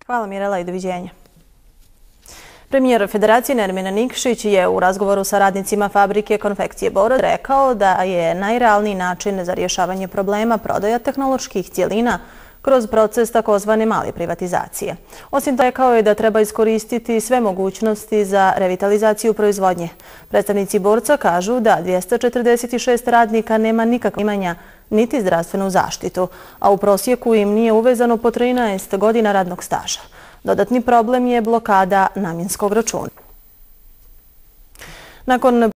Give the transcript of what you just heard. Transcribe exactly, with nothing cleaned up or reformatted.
Hvala Mirela i doviđenja. Premijer Federacije Nermin Nikšić je u razgovoru sa radnicima fabrike konfekcije Bor rekao da je najrealniji način za rješavanje problema prodaja tehnoloških cjelina kroz proces takozvane male privatizacije. Osim toga, rekao je da treba iskoristiti sve mogućnosti za revitalizaciju proizvodnje. Predstavnici borca kažu da dvjesto četrdeset šest radnika nema nikakva imanja niti zdravstvenu zaštitu, a u prosjeku im nije uvezano po trinaest godina radnog staža. Dodatni problem je blokada namjenskog računa. Nakon